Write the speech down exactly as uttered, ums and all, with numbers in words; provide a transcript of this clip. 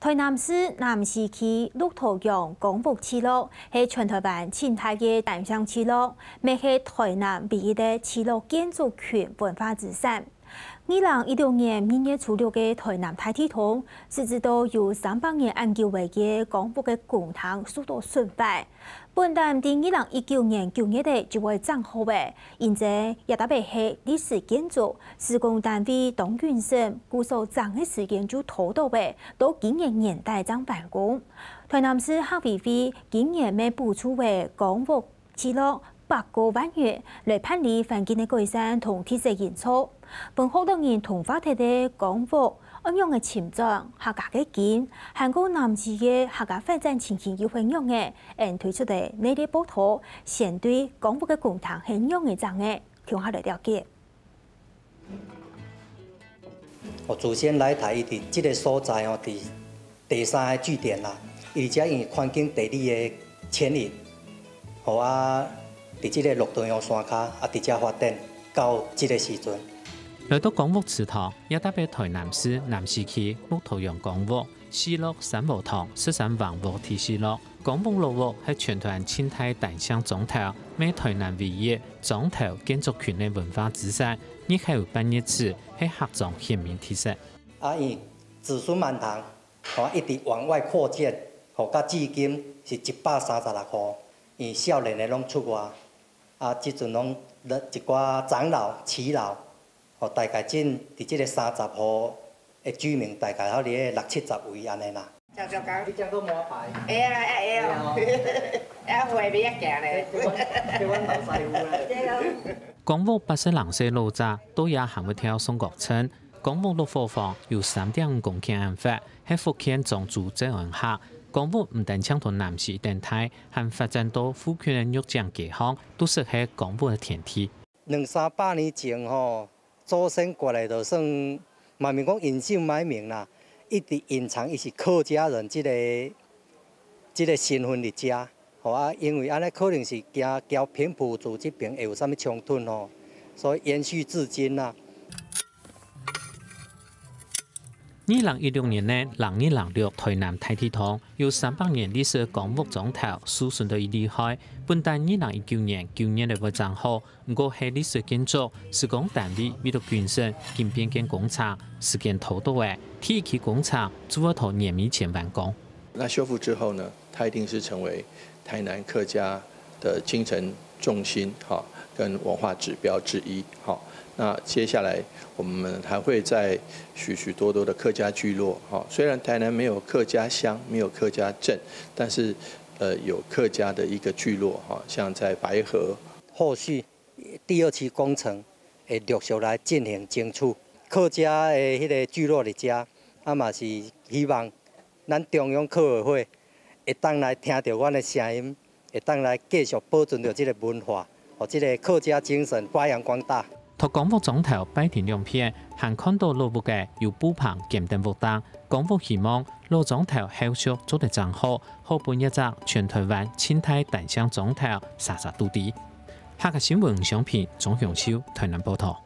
台南市南勢區鹿頭鄉公屋聚落係全台灣盡大个單姓聚落，乜係台南唯一个聚落建築群文化資產。二零一六年二月初六个台南大地動，實際到有三百年恁久个公屋个公廳受到損壞。本旦在二零一九年九月个就會整好个，因為這搭个係歷史建築，施工單位當謹慎，故所整个時間就拖到个，到今年年底正完工。台南市客委會今年乜補助个公屋 聚落八個萬元來辦理環境个改善同地勢營造。分學老人同化忒个公屋，愛仰仔尋轉客家个根，還過南勢个客家發展情形又係仰仔，𫣆推出个系列報導，先對公屋个公廳係仰仔整个，共下來了解。 哦，祖先來台，佢佇這个所在哦，佇第三个據點啦，佢佇遮因為環境地理个牽引，好啊，佇這个鹿頭鄉山跤啊，佇遮發展到這个時陣。來到公屋池塘，這搭个台南市南勢區鹿頭鄉公屋， 聚落三和堂、十三橫屋第四落，公屋老屋係全台灣盡大單姓庄頭，乜台南唯一庄頭建築群个文化資產，日後有半日子係客庄縣民特色。啊，因子孫滿堂，吼，一直往外擴建，吼，到至今是一百三十六戶，因少年的攏出外，啊，這陣攏一寡長老、耆老，吼，大概真佇這个三十戶 的居民大概好佇咧六七十位按呢啦。你講到麻牌。會啊，會啊，會啊。啊，會袂曉行咧。叫阮，叫阮老師傅咧。對啊。公屋八十零歲老者，到這還會跳雙角trench。公屋落伙房有三點五公頃恁闊，係福建漳州詔安客。公屋毋單淨同南勢一等大，還發展到附近个玉井街項，都識係公屋个天地。兩三百年前吼， 祖先過來就算，嘛毋免講隱姓埋名啦，一直隱藏伊是客家人這个，這个身份佇遮。吼啊，因為按呢可能是驚交平埔族這邊會有啥物衝突吼，所以延續至今啦。二零一六年个六二六六台南大地動，有三百年歷史个公屋庄頭受損到已厲害，本旦二零一九年九月个會整好， 毋過係歷史建築，施工單位為著謹慎，緊變間工程，時間拖到个，第一期工程就愛到年尾前完工。那修復之後呢，它一定是成為台南客家的精神重心，哈，跟文化指標之一，哈。那接下來我們還會在許許多多的客家聚落，哈，雖然台南沒有客家鄉，沒有客家鎮，但是，呃，有客家的一個聚落，哈，像在白河，後續 第二期工程會陸續來進行爭取。客家的彼个聚落佇遮，啊嘛是希望咱中央客委會會當來聽著阮的聲音，會當來繼續保存著這个文化，予這个客家精神發揚光大。在公屋庄頭拜亭兩片，還看著老屋个有布棚兼等屋頂，公屋希望老庄頭後續做得整好，好分這隻全台灣盡大單姓庄頭煞煞佇咧。 客家新聞，吳尚平、鍾雄秋，台南報導。